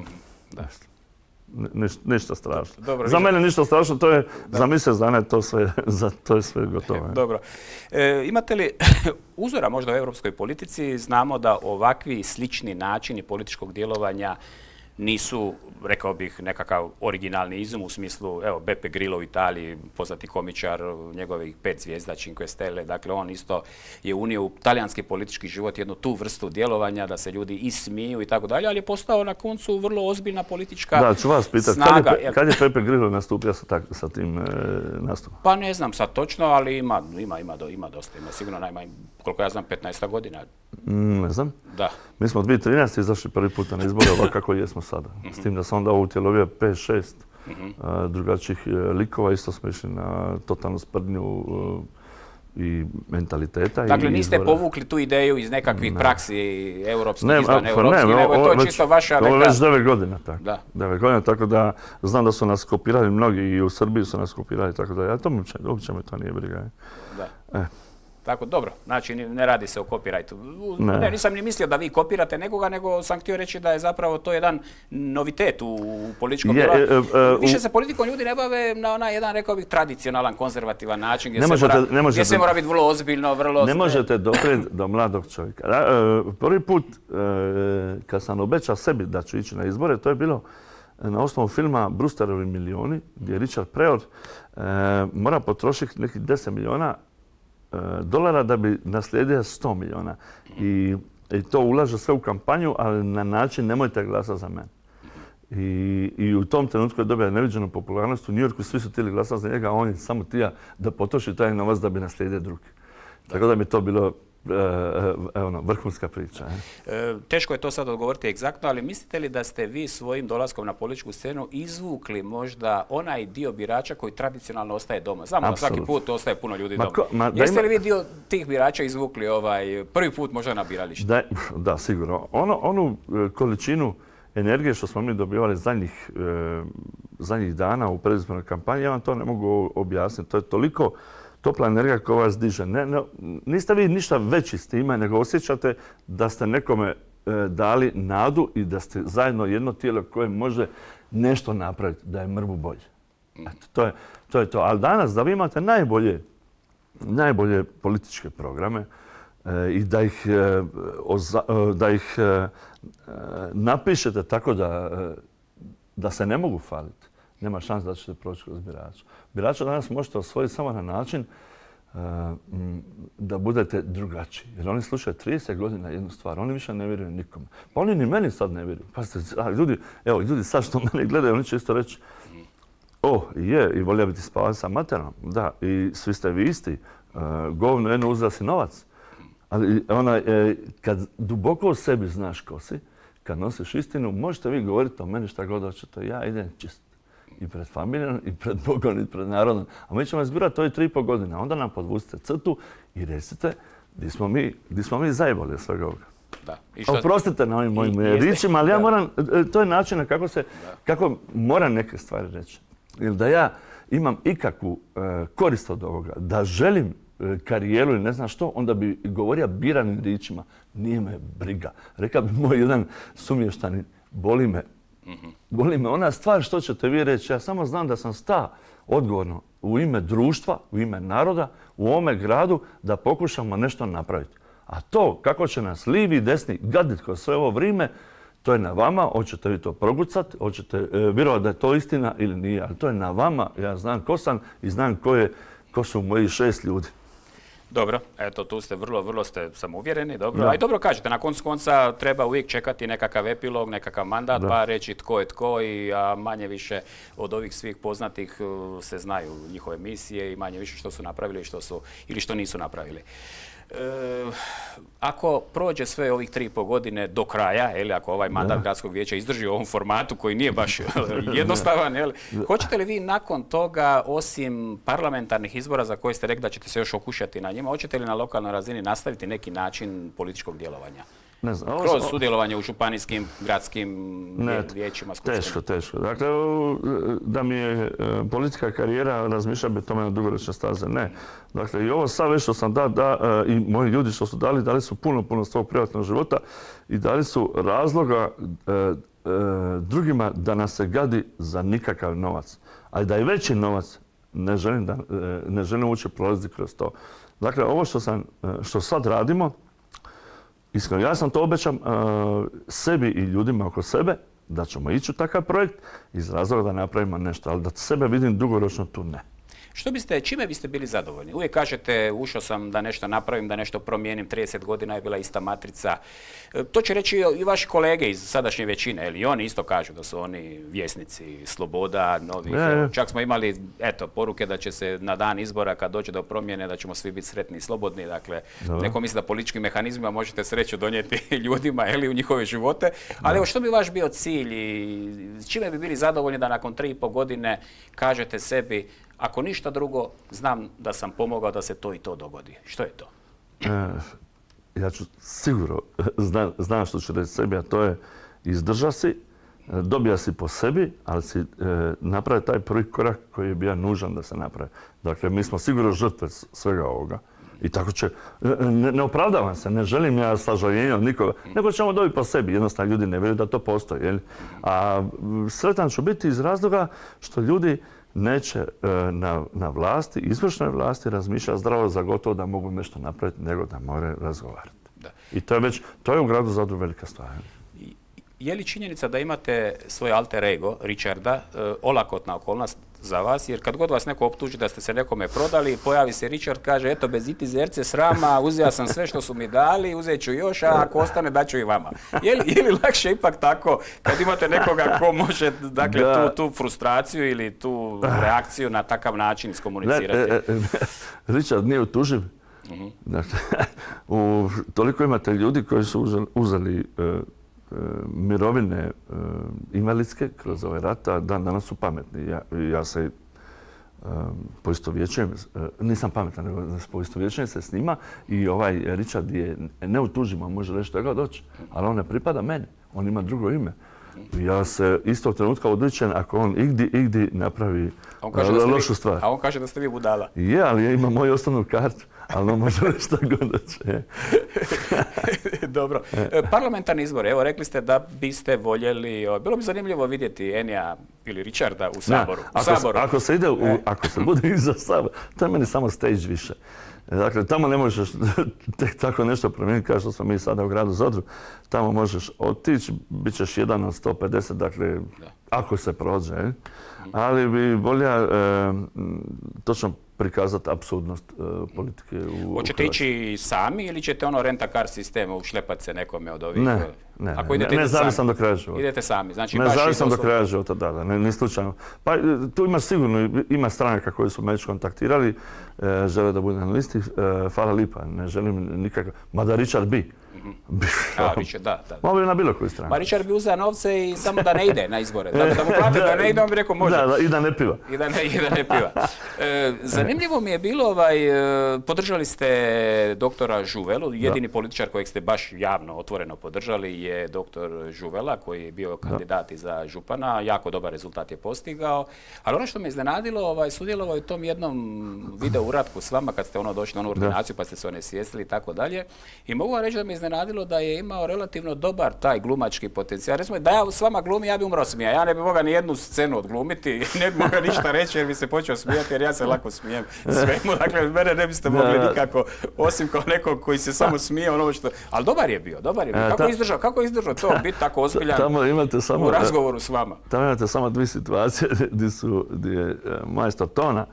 ništa strašno. Dobro, za mene ništa strašno, to je za mjesec dana to je sve gotovo. Dobro. Imate li uzora možda u europskoj politici? Znamo da ovakvi slični načini političkog djelovanja nisu, rekao bih, nekakav originalni izum u smislu, evo, Beppe Grillo u Italiji, poznati komičar, njegovih 5 zvijezda, Cinque Stelle, dakle on isto je unio u talijanski politički život jednu tu vrstu djelovanja da se ljudi ismiju i tako dalje, ali je postao na koncu vrlo ozbiljna politička snaga. Da, ću vas pitati, kad je Beppe Grillo nastupio sa tim nastupom? Pa ne znam sad točno, ali ima dosta, ima sigurno najmanje, koliko ja znam, 15 godina. Ne znam. Da. Mi smo 2013. izašli prvi puta na izbore ovako kako jesmo sada. S tim da sam onda utjelovio 5-6 drugačijih likova. Isto smo išli na totalnu sprdnju i mentaliteta. Dakle, niste povukli tu ideju iz nekakvih praksi europskih, izvan europskih, nego je to čisto vaša... To već 9 godina tako. 9 godina, tako da znam da su nas kopirali mnogi i u Srbiji su nas kopirali, tako da ja to uopće me to nije briga. Da. Tako, dobro, znači ne radi se o copyrightu. Ne, nisam ni mislio da vi kopirate nekoga, nego sam htio reći da je zapravo to jedan novitet u političkom djelovanju. Više se politikom ljudi ne bave na onaj jedan, rekao bih, tradicionalan, konzervativan način gdje se mora biti vrlo ozbiljno, vrlo... Ne možete doprijeti do mladog čovjeka. Prvi put kad sam obećao sebi da ću ići na izbore, to je bilo na osnovu filma Brewsterovi milijuni, gdje Richard Pryor mora potrošiti nekih 10 milijuna dolara da bi naslijedio 100 milijuna. I to ulaže sve u kampanju, ali na način nemojte glasati za mene. I u tom trenutku je dobio neviđenu popularnost. U New Yorku svi su htjeli glasati za njega, a on je samo htio da potroši taj novac da bi naslijedio drugi. Tako da mi to bilo vrhunska priča. Teško je to sad odgovoriti egzaktno, ali mislite li da ste vi svojim dolaskom na političku scenu izvukli možda onaj dio birača koji tradicionalno ostaje doma? Znamo da svaki put ostaje puno ljudi doma. Jeste li vi dio tih birača izvukli prvi put možda na biralište? Da, sigurno. Onu količinu energije što smo mi dobivali zadnjih dana u predizbornoj kampanji, ja vam to ne mogu objasniti. To je toliko topla energija koja vas diže. Niste vi ništa veći s time, nego osjećate da ste nekome dali nadu i da ste zajedno jedno tijelo koje može nešto napraviti, da je mrvu bolje. To je to. Ali danas da vi imate najbolje političke programe i da ih napišete tako da se ne mogu faliti, nema šanse da ćete proći kroz birača. Birača danas možete osvojiti samo na način da budete drugačiji. Jer oni slušaju 30 godina jednu stvar, oni više ne vjeruju nikome. Pa oni ni meni sad ne vjeruju. Pazite, ljudi sad što mene gledaju, oni će isto reći i volio biti spavati sa materom. Da, i svi ste vi isti. Govno jedno uzela si novac. Ali kad duboko u sebi znaš ko si, kad nosiš istinu, možete vi govoriti o meni šta god hoćete. Ja idem čist. I pred familijom, i pred Bogom, i pred narodom. A mi ćemo izgurati ove 3,5 godine. Onda nam podvucite crtu i recite gdje smo mi zajebali svega ovoga. Da. Oprostite na ovim mojim ričima, ali ja moram, to je način kako moram neke stvari reći. Ili da ja imam ikakvu korist od ovoga, da želim karijeru ili ne znam što, onda bi govorio biranim ričima. Nije me briga. Rekao bi moj jedan sumještanin, boli me ona stvar što ćete vi reći. Ja samo znam da sam sta odgovorno u ime društva, u ime naroda, u ovome gradu da pokušamo nešto napraviti. A to kako će nas livi i desni gaditi kroz sve ovo vrijeme, to je na vama. Hoćete vi to progucati, hoćete vjerovati da je to istina ili nije. Ali to je na vama. Ja znam ko sam i znam ko su moji 6 ljudi. Dobro, eto tu ste vrlo ste samouvjereni, dobro. A i dobro kažete, na koncu konca treba uvijek čekati nekakav epilog, nekakav mandat, pa reći tko je tko a manje više od ovih svih poznatih se znaju njihove misije i manje više što su napravili ili što nisu napravili. Ako prođe sve ovih 3,5 godine do kraja, ako ovaj mandat gradskog vijeća izdrži u ovom formatu koji nije baš jednostavan, hoćete li vi nakon toga, osim parlamentarnih izbora za koje ste rekli da ćete se još okušati na njima, hoćete li na lokalnoj razini nastaviti neki način političkog djelovanja? Ne znam. Kroz sudjelovanje u županijskim, gradskim vijećima, skupštinama? Teško. Dakle, da mi je politika karijera, razmišljam bi tome na dugoročne staze. Ne. Dakle, i ovo sad već što sam i moji ljudi što su dali su puno svog privatnog života i dali su razloga drugima da nas se gadi za nikakav novac. A da je veći novac, ne želim uopće prolaziti kroz to. Dakle, ovo što sad radimo, iskreno, ja sam to obećam sebi i ljudima oko sebe, da ćemo ići u takav projekt iz razloga da napravimo nešto, ali da sebe vidim dugoročno tu ne. Čime biste bili zadovoljni? Uvijek kažete, ušao sam da nešto napravim, da nešto promijenim, 30 godina je bila ista matrica. To će reći i vaši kolege iz sadašnje većine, ili oni isto kažu da su oni vjesnici sloboda, novih. Čak smo imali, poruke da će se na dan izbora, kad dođe do promjene, da ćemo svi biti sretni i slobodni. Dakle, neko misli da političkim mehanizmima možete sreću donijeti ljudima u njihove živote. Ali evo, što bi vaš bio cilj i čime bi bili zadovoljni da nakon 3,5 godine kažete sebi, ako ništa drugo, znam da sam pomogao da se to i to dogodi. Što je to? Ja ću sigurno, znam što ću reći sebi, a to je izdrža si, dobija si po sebi, ali si napravi taj prvi korak koji je bio nužan da se napravi. Dakle, mi smo sigurno žrtve svega ovoga. I tako će, ne opravdavam se, ne želim ja sažaljenje od nikoga, nego ćemo dobiti po sebi. Jednostavno ljudi ne vjeruju da to postoji. A sretan ću biti iz razloga što ljudi neće na vlasti, izvršnoj vlasti razmišljati zdravo za gotovo da mogu nešto napraviti, nego da moraju razgovarati. I to je u gradu Zadru velika stvar. Je li činjenica da imate svoj alter ego, Richarda, olakotna okolnost za vas? Jer kad god vas neko optuži da ste se nekome prodali, pojavi se Richard, kaže, eto, bez iti zerce srama, uzeo sam sve što su mi dali, uzet ću još, a ako ostane, daću i vama. Je li lakše ipak tako, kad imate nekoga ko može, dakle, tu frustraciju ili tu reakciju na takav način iskomunicirati? Richard nije utuživ. Dakle, toliko imate ljudi koji su uzeli mirovine invalidske kroz ovaj rat, a danas su pametni. Ja se poistovjećujem, nisam pametan, nego poistovjećujem se s njima i ovaj Richard je neutuživ, može reći što je god doći, ali on ne pripada meni, on ima drugo ime. Ja se istog trenutka odričem ako on igdi napravi lošu stvar. A on kaže da ste vi budala. Je, ali ja imam moju osnovnu kartu, ali on može reći što god doći. Dobro. Parlamentarni izbor, evo rekli ste da biste voljeli, bilo bi zanimljivo vidjeti Enija ili Richarda u Saboru. Ako se bude iza Sabora, to je meni samo stage više. Dakle, tamo ne možeš tek tako nešto promijeniti kao što smo mi sada u gradu Zadru. Tamo možeš otići, bit ćeš jedan od 150, dakle, ako se prođe. Ali bi volio točno prikazati apsurdnost politike u Hrvatskoj. Hoćete ići sami ili ćete renta car sistemu ušlepati se nekome od ovih? Ne zavisam do kraja života. Idete sami, znači ne zavisam do kraja života, da, ne slučajno. Pa tu ima sigurno, ima stranaka koji su me već kontaktirali, žele da bude na listi, hvala lipa, ne želim nikako, mada Richard bi. Više, da. Mogu bi na bilo koju stranu. Ma Richard bi uzeo novce i samo da ne ide na izbore. Dakle, da mu plate da ne ide, on bi rekao može. Da, i da ne piva. I da ne piva. Zanimljivo mi je bilo, podržali ste doktora Žuvelu, jedini političar kojeg ste baš javno, otvoreno podržali je doktor Žuvela, koji je bio kandidat i za župana. Jako dobar rezultat je postigao. Ali ono što me iznenadilo, sudjelovao je u tom jednom video uratku s vama kad ste došli na onu ordinaciju pa ste se onesvijestili i tako dalje. I mogu vam reći da me iznenadilo da je imao relativno dobar taj glumački potencijal. Recimo, da ja s vama glumi, ja bi umro smija. Ja ne bi mogao ni jednu scenu odglumiti, ne bi mogao ništa reći jer bi se počeo smijati jer ja se lako smijem svemu. Dakle, mene ne biste mogli nikako, osim kao nekog koji se samo smije ono što... Ali dobar je bio. Kako je izdržao to, biti tako ozbiljan u razgovoru s vama? Tamo imate samo dvije situacije gdje je majstor tona,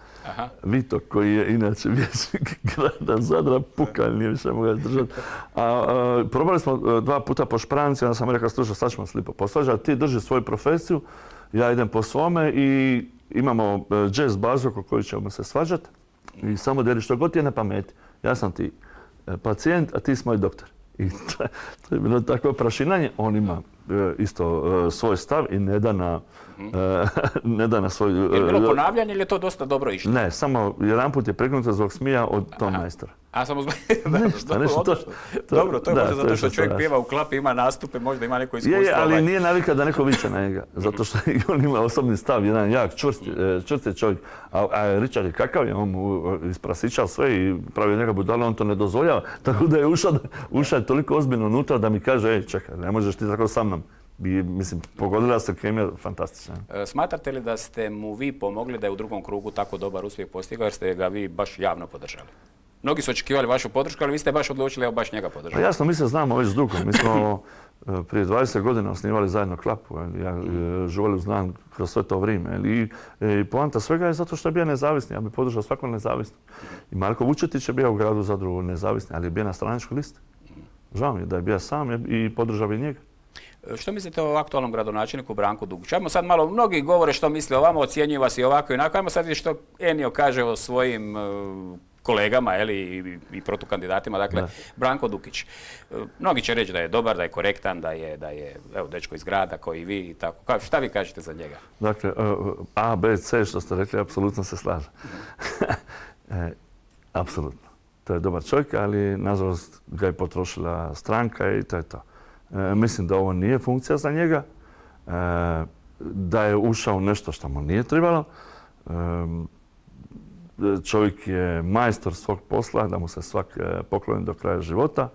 Vito, koji je inače vijećnik grada Zadra, pukalj, nije više mogao izdržati. Probali smo 2 puta po špranci, onda sam rekao, slušaj, sad ćemo se lipo posvađati, ti drži svoju profesiju, ja idem po svome i imamo jazz bazu oko koju ćemo se svađati i samo deli što god ti je na pameti. Ja sam ti pacijent, a ti si moj doktor. I to je bilo takvo prašinanje. On ima isto svoj stav i ne da na svoj... Je bilo ponavljanje ili je to dosta dobro išlo? Ne, samo jedan put je pregnuto zbog smija od tom majstora. A samo zbog... Dobro, to je možda zato što čovjek pjeva u klapi, ima nastupe, možda ima neko iskustvo. Je, ali nije navika da neko viče na njega. Zato što on ima osobni stav, jedan jak, čvrst je čovjek. A Richard je kakav je, on mu isprasičao sve i pravio njega budala, on to ne dozvoljava. Tako da je ušao je toliko ozbiljno unutra da mi kaže, čekaj, ne možeš ti tako sa mnom. Mislim, pogodila se kemija fantastična. Smatrate li da ste mu vi pomogli da je u drugom krugu tako dobar uspjeh postigao jer ste ga vi baš javno podržali? Mnogi su očekivali vašu podršku, ali vi ste baš odlučili evo baš njega podržati. Jasno, mi se znamo već dugo. Mi smo prije 20 godina osnivali zajedno Klapu. Ja Žuvelu znam kroz sve to vrijeme. I poanta svega je zato što je bio nezavisni. Ja bih podržao svakog nezavisnog. I Marko Vučetić je bio u gradu Zadru nezavisni, ali je bio na stranačkoj listi. Žao mi je da je bio sam i podržao bi njega. Što mislite o aktualnom gradonačelniku Branku Dugiću? Ajmo sad malo, mnogi govore što misle o vama, ocjenjuju vas i ovako i onako. Ajmo sad vidjeti što Enio kaže o svojim kolegama i protukandidatima, dakle Branko Dugić. Mnogi će reći da je dobar, da je korektan, da je evo, dečko iz grada kao i vi i tako. Šta vi kažete za njega? Dakle, A, B, C što ste rekli, apsolutno se slažem. Apsolutno. To je dobar čovjek, ali nažalost ga je potrošila stranka i to je to. Mislim da ovo nije funkcija za njega, da je ušao u nešto što mu nije trebalo. Čovjek je majstor svog posla, da mu se svak pokloni do kraja života,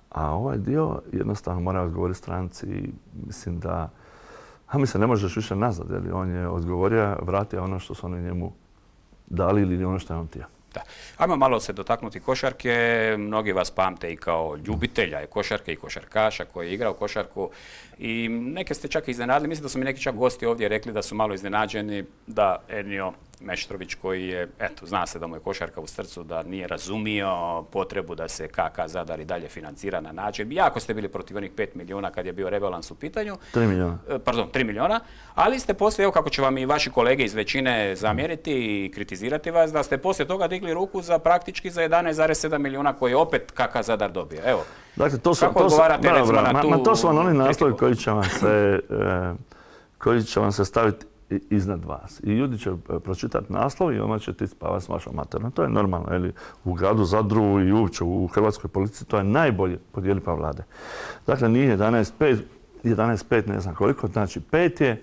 a ovaj dio jednostavno mora odgovoriti stranci i mislim da ne možeš više nazad, jer on je odgovorio, vratio ono što su oni njemu dali ili ono što je on htio. Da. Ajmo malo se dotaknuti košarke. Mnogi vas pamte i kao ljubitelja košarke i košarkaša koji je igrao košarku i neke ste čak iznenadili. Mislim da su mi neki čak gosti ovdje rekli da su malo iznenađeni da Enio Meštrović koji je, eto, zna se da mu je košarka u srcu, da nije razumio potrebu da se KK Zadar i dalje financira na način. Jako ste bili protiv onih 5 milijuna kad je bio rebalans u pitanju. 3 milijuna. Pardon, 3 milijuna. Ali ste poslije, evo kako će vam i vaši kolege iz većine zamjeriti i kritizirati vas, da ste poslije toga digli ruku za praktički za 11,7 milijuna koje je opet KK Zadar dobio. Evo, dakle, kako odgovarate recimo na tu... To su vam oni naslovi koji će vam se staviti iznad vas. I ljudi će pročitati naslov i onda će ti spavati s vašom materom. To je normalno. Ili u gradu Zadru i uopće u hrvatskoj policiji to je najbolje podijeli pa vlade. Dakle, nije 11,5 ne znam koliko, znači 5 je.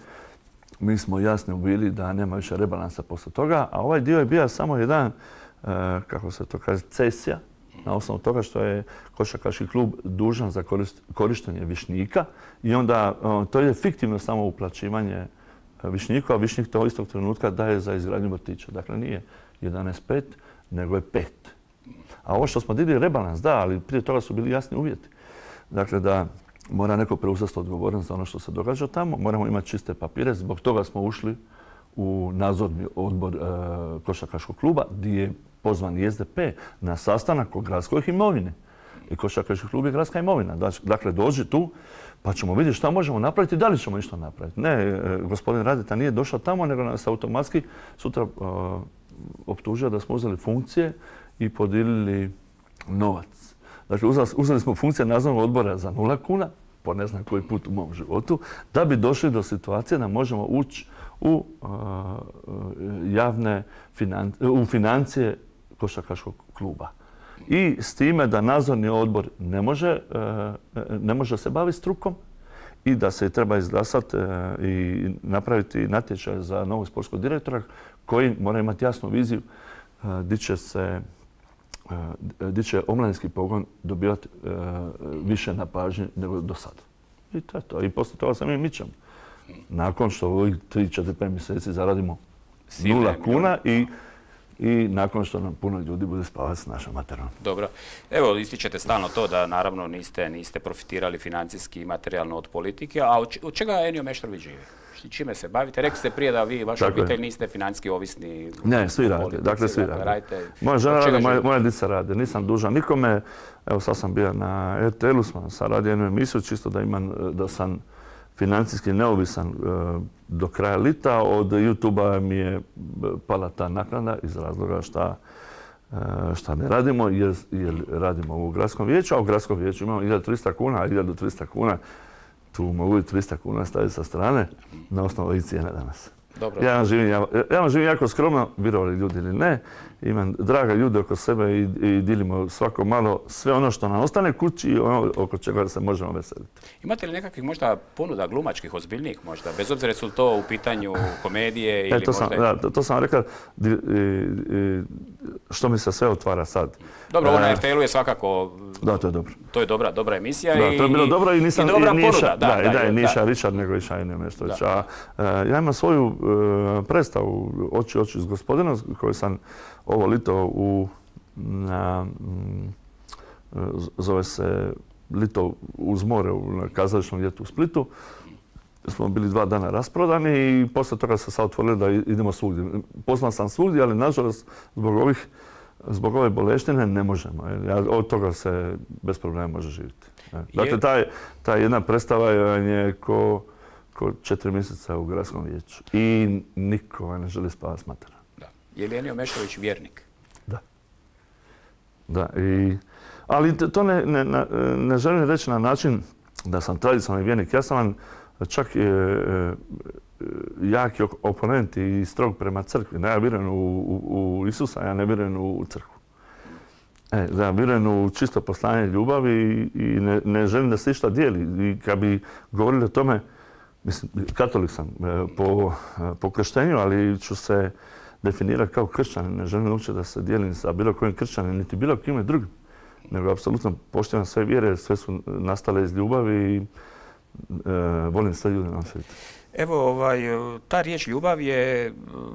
Mi smo jasni bili da nema više rebalansa poslije toga, a ovaj dio je bio samo jedan, kako se to kaže, cesija, na osnovu toga što je košarkaški klub dužan za korištenje Višnjika i onda to je fiktivno samo uplaćivanje Višnjiku, a Višnjik to istog trenutka daje za izgradnju vrtića. Dakle, nije 11,5, nego je 5. A ovo što smo digli rebalans, da, ali prije toga su bili jasni uvjeti. Dakle, da mora neko preuzeti odgovornost za ono što se događa tamo, moramo imati čiste papire, zbog toga smo ušli u nadzorni odbor košarkaškog kluba, gdje je pozvan i SDP na sastanak o gradskoj imovine. I košarkaški klub je gradska imovina. Dakle, dođi tu pa ćemo vidjeti šta možemo napraviti i da li ćemo nešto napraviti. Ne, gospodin Radeta nije došao tamo, nego nas automatski sutra optužio da smo uzeli funkcije i podijelili novac. Dakle, uzeli smo funkcije nadzornog odbora za 0 kuna, po ne znam koji put u mom životu, da bi došli do situacije da možemo ući u u financije košarkaškog kluba. I s time da nadzorni odbor ne može se baviti strukom i da se treba izglasati i napraviti natječaj za novog sportskog direktora koji mora imati jasnu viziju gdje će omladinski pogon dobivati više na pažnji nego do sada. I to je to. I poslije toga se mi mičemo. Nakon što u ovih 3-4-5 mjeseci zaradimo 0 kuna i nakon što nam puno ljudi bude spavati s našom materijom. Dobro. Evo, ističete stalno to da naravno niste profitirali financijski i materijalno od politike, a od čega Enio Meštrović živi? Čime se bavite? Rekli ste prije da vi i vaša obitelj niste financijski ovisni. Ne, svi rade. Dakle, svi rade. Moja žena rade, moja djeca rade. Nisam dužan nikome. Evo, sad sam bio na RTL-u, sam radio jednu emisiju, čisto da sam financijski neovisan do kraja lita. Od YouTube-a mi je pala ta naknada iz razloga šta ne radimo, jer radimo u gradskom vijeću, a u gradskom vijeću imamo 1300 kuna, a 1300 kuna tu mogu i 300 kuna staviti sa strane na osnovu ovih cijena danas. Dobro. Ja vam živim jako skromno, vjerovali ljudi ili ne. Imam draga ljude oko sebe i dilimo svako malo sve ono što nam ostane kući i ono oko čega se možemo veseliti. Imate li nekakvih možda ponuda glumačkih, ozbiljnijih možda? Bez obzira su to u pitanju komedije ili možda... To sam rekao, što mi se sve otvara sad. Dobro, ovo na RTL-u je svakako... Da, to je dobro. To je dobra emisija da, to je bilo dobro i nisam... I dobra ponuda. Da, Niša Ričar nego i Enio Meštrović. Ja imam svoju predstavu Oči s gospodinom koju sam ovo lito zove se Lito uz more na kazališnom ljetu u Splitu. Smo bili 2 dana rasprodani i poslije toga se sad otvorili da idemo svugdje. Pozvan sam svugdje, ali nažalost zbog ove boleštine ne možemo. Od toga se bez problema može živjeti. Dakle, ta jedna predstava je ko 4 mjeseca u gradskom vijeću. I niko ne želi spavati s materom. Je li Enio Meštrović vjernik? Da. Ali to ne želim reći na način da sam tradicionalni vjernik. Ja sam vam čak jaki oponent i strog prema crkvi. Ja vjerujem u Isusa, ja ne vjerujem u crkvu. Ja vjerujem u čisto poslanje ljubavi i ne želim da se išta dijeli. I kad bi govorili o tome, mislim, katolik sam po krštenju, ali ću se definirati kao kršćanin. Ne želim uopće da se dijelim sa bilo kojim kršćanin, niti bilo kime drugim. Nego apsolutno poštivam sve vjere, sve su nastale iz ljubavi i volim sve ljude na svijetu. Evo, ta riječ ljubav je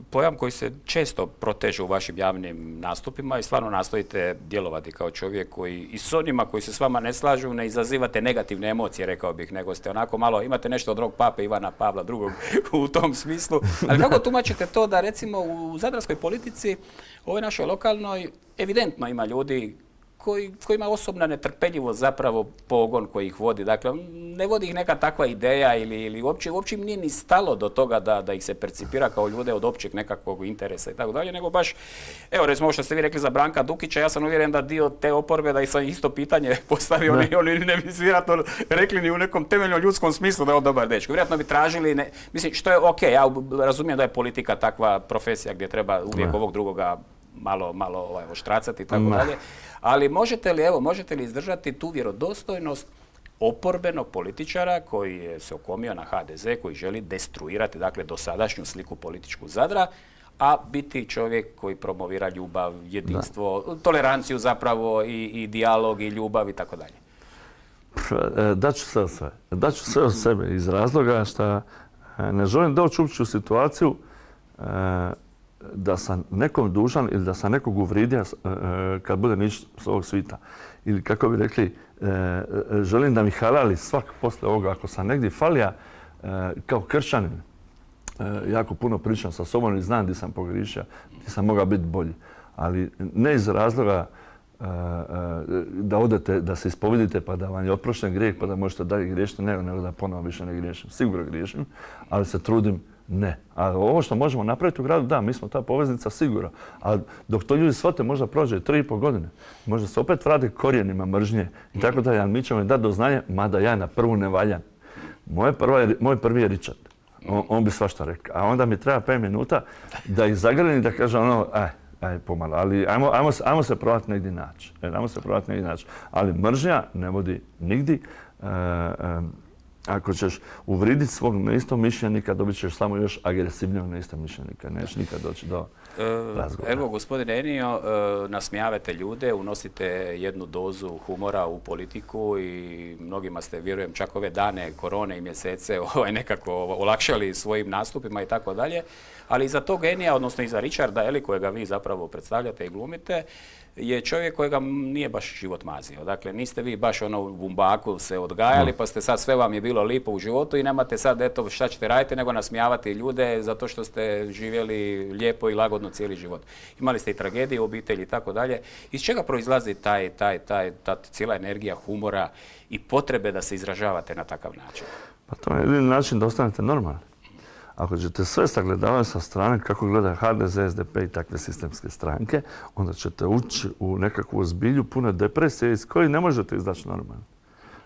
pojam koji se često proteže u vašim javnim nastupima i stvarno nastojite djelovati kao čovjek koji i s onima koji se s vama ne slažu ne izazivate negativne emocije, rekao bih, nego ste onako malo, imate nešto od drugog pape Ivana Pavla II u tom smislu. Ali kako tumačite to da recimo u zadarskoj politici, ovoj našoj lokalnoj, evidentno ima ljudi kojima osobna netrpeljivost zapravo pogon koji ih vodi. Dakle, ne vodi ih neka takva ideja ili uopće im nije ni stalo do toga da ih se percipira kao ljude od općeg nekakvog interesa i tako dalje, nego baš, evo recimo ovo što ste vi rekli za Branka Dukića, ja sam uvjeren da dio te oporbe, da ih sam isto pitanje postavio, oni ne bi vjerojatno rekli ni u nekom temeljnom ljudskom smislu da je on dobar dečko. Vjerojatno bi tražili, mislim, što je okej, ja razumijem da je politika takva profesija gdje treba uvijek ovog drugoga malo oštracati i tako dalje. Ali možete li izdržati tu vjerodostojnost oporbenog političara koji se okomio na HDZ, koji želi destruirati dakle dosadašnju sliku političku Zadra, a biti čovjek koji promovira ljubav, jedinstvo, toleranciju zapravo i dijalog i ljubav i tako dalje? Daću sve od sebe iz razloga što ne želim doći uopće u situaciju da sam nekom dužan ili da sam nekog uvridio kad bude nić s ovog svita. Ili kako bi rekli, želim da mi halali svak posle ovoga. Ako sam negdje falija kao kršćanin, jako puno pričam sa sobom i znam gdje sam pogriješio, gdje sam mogao biti bolji. Ali ne iz razloga da odete, da se ispovedite pa da vam je oprošten grijeh pa da možete dalje griješiti, nego da ponovo više ne griješim. Sigurno griješim, ali se trudim Ne. A ovo što možemo napraviti u gradu, da, mi smo ta poveznica sigurno. A dok to ljudi shvate, možda prođe 3,5 godine. Možda se opet vrati korijenima mržnje i tako da, ali mi ćemo im dati do znanja, mada ja na prvu ne valjam. Moj prvi je Richard. On bi svašta rekao. A onda mi treba 5 minuta da ih zagrlim i da kaže ono, pomalo, ali ajmo se probati negdje naći. Ali mržnja ne vodi nigdje. Ako ćeš uvriditi svog neistomišljenika, dobit ćeš samo još agresivnijog neistomišljenika. Nećeš nikad doći do razgovora. Evo, gospodine Enio, nasmijavate ljude, unosite jednu dozu humora u politiku i mnogima ste, vjerujem, čak ove dane korone i mjesece nekako olakšali svojim nastupima i tako dalje. Ali iza tog Enija, odnosno iza Richarda, kojega vi zapravo predstavljate i glumite, je čovjek kojega nije baš život mazio. Dakle, niste vi baš u bumbaku se odgajali, pa ste sad sve vam je bilo lipo u životu i nemate sad eto šta ćete raditi, nego nasmijavati ljude zato što ste živjeli lijepo i lagodno cijeli život. Imali ste i tragedije u obitelji i tako dalje. Iz čega proizlazi ta cijela energija humora i potrebe da se izražavate na takav način? Pa to je jedini način da ostanete normalni. Ako ćete sve sagledavati sa strane kako gleda HDZ, SDP i takve sistemske stranke, onda ćete ući u nekakvu zbilju puno depresije iz koje ne možete izaći normalno.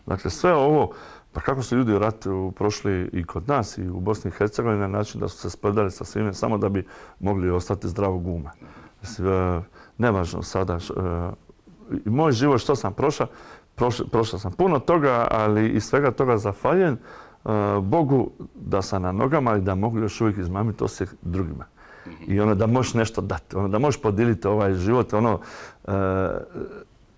Dakle, sve ovo, pa kako su ljudi u ratu prošli i kod nas i u Bosni i Hercegovini na način da su se sprdali sa svime samo da bi mogli ostati zdravog uma. Nevažno sada. Moj život što sam prošao sam puno toga, ali iz svega toga zahvaljujem Bogu da sam na nogama i da mogu još uvijek izmamiti osjeh drugima. I da možeš nešto dati, da možeš podijeliti ovaj život,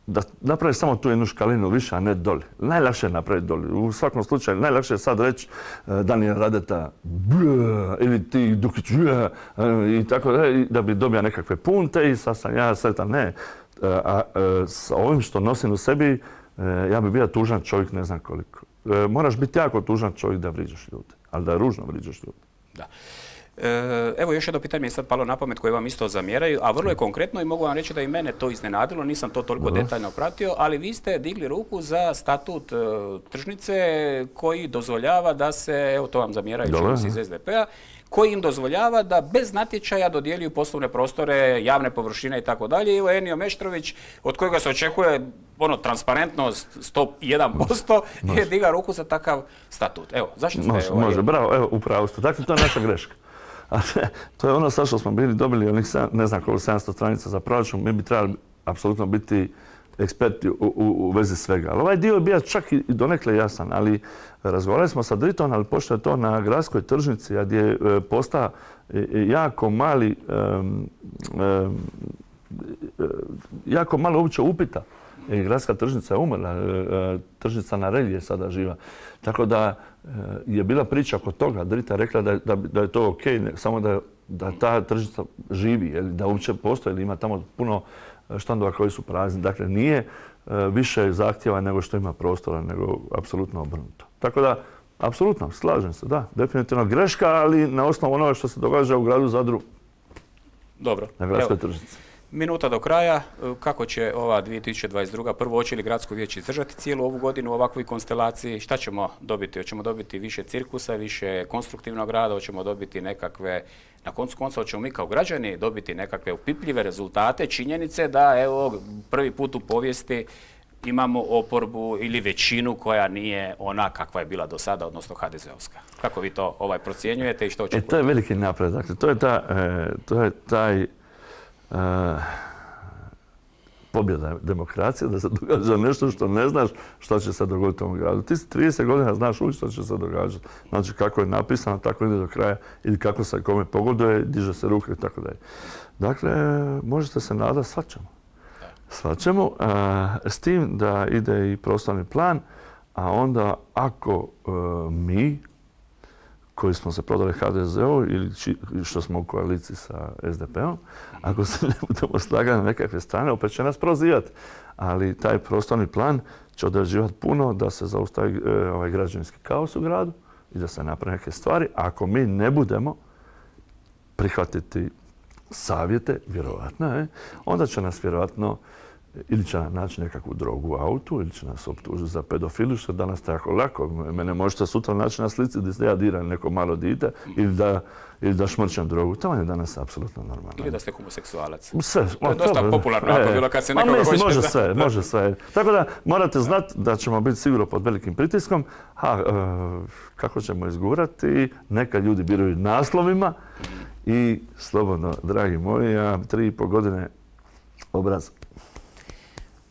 da napraviš samo tu jednu škalinu više, a ne doli. Najlakše je napraviti doli. U svakom slučaju, najlakše je sad reći Daniel Radeta ili ti Dukić i tako da bi dobio nekakve punte i sad sam ja sretan. Ne. A sa ovim što nosim u sebi, ja bi bio tužan čovjek ne znam koliko. Moraš biti jako tužan čovjek da vriđaš ljude, ali da ružno vriđaš ljude. Da. Evo još jedno pitanje mi je sad palo na pamet koje vam isto zamjeraju, a vrlo je konkretno i mogu vam reći da i mene to iznenadilo, nisam to toliko detaljno pratio, ali vi ste digli ruku za statut tržnice koji dozvoljava da se, evo to vam zamjeraju čovjeci iz SDP-a, koji im dozvoljava da bez natječaja dodjeljuju poslovne prostore, javne površine i tako dalje. Evo Enio Meštrović, od kojega se očekuje transparentnost 101%, je diga ruku za takav statut. Evo, zašto ste... Može, bravo, evo, upravo ste. Dakle, to je naša greška. To je ono sad što smo bili dobili, onih ne znam koliko 700 stranica za proračun, mi bi trebali apsolutno biti eksperti u vezi svega. Ali ovaj dio je bio čak i donekle jasan, ali razgovarali smo sa Dritom, ali pošto je to na gradskoj tržnici, gdje je postao jako mali, jako malo uopće upita. Gradska tržnica je umrla, tržnica na Relji je sada živa. Tako da je bila priča oko toga. Drita je rekla da je to ok, samo da ta tržnica živi, da uopće postoji, ili ima tamo puno štandova koji su prazni. Dakle, nije više zahtjeva nego što ima prostora, nego apsolutno obrnuto. Tako da, apsolutno, slažem se, da, definitivno greška, ali na osnovu onoga što se događa u gradu Zadru. Dobro. Na gradskoj tržnici. Minuta do kraja. Kako će ova 2022. Prvo, hoće li gradsko vijeće izdržati cijelu ovu godinu u ovakvoj konstelaciji? Šta ćemo dobiti? Hoćemo dobiti više cirkusa, više konstruktivnog rada, hoćemo dobiti nekakve, na koncu konca hoćemo mi kao građani dobiti nekakve upipljive rezultate, činjenice da evo prvi put u povijesti imamo oporbu ili većinu koja nije ona kakva je bila do sada, odnosno HDZ-ovska. Kako vi to procjenjujete i što očekujete? To je veliki napredak. To je taj pobjeda demokracije, da se događa nešto što ne znaš što će se dogoditi u ovom gradu. Ti 30 godina znaš uvijek što će se događati. Znači kako je napisano, tako ide do kraja ili kako se kome pogoduje, diže se ruke i tako dalje. Dakle, možete se nadati svačemu. Svačemu, s tim da ide i prostorni plan, a onda ako mi koji smo se prodali HDZ-u ili što smo u koaliciji sa SDP-om, ako se ne budemo slagati na nekakve strane, opet će nas prozivati. Ali taj prostorni plan će određivati puno da se zaustavi ovaj građevinski kaos u gradu i da se napravi neke stvari. Ako mi ne budemo prihvatiti savjete, vjerovatno, onda će nas vjerovatno ili će naći nekakvu drogu u autu, ili će nas optužiti za pedofiliju, što je danas tako lako. Mene možete sutra naći na slici gdje ja diram neko malo dite ili da šmrčam drogu. To je danas apsolutno normalno. Ili da ste homoseksualac. Sve. To je dosta popularno ako bilo kad se nekoga hoće... Može sve. Tako da morate znati da ćemo biti sigurno pod velikim pritiskom. Kako ćemo izgurati? Neka ljudi biraju naslovima i slobodno, dragi moji, ja 3,5 godine obraz.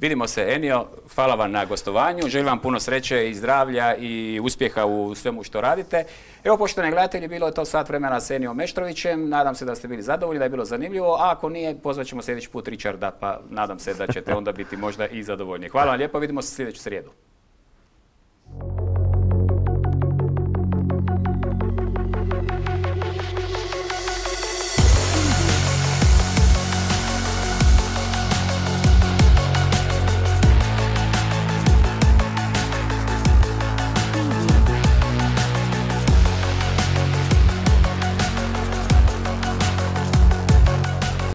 Vidimo se, Enio. Hvala vam na gostovanju. Želim vam puno sreće i zdravlja i uspjeha u svemu što radite. Evo, poštovani gledatelji, bilo je to sat vremena s Enijom Meštrovićem. Nadam se da ste bili zadovoljni, da je bilo zanimljivo. A ako nije, pozvat ćemo sljedeći put Richarda, pa nadam se da ćete onda biti možda i zadovoljni. Hvala vam lijepo, vidimo se sljedeću srijedu.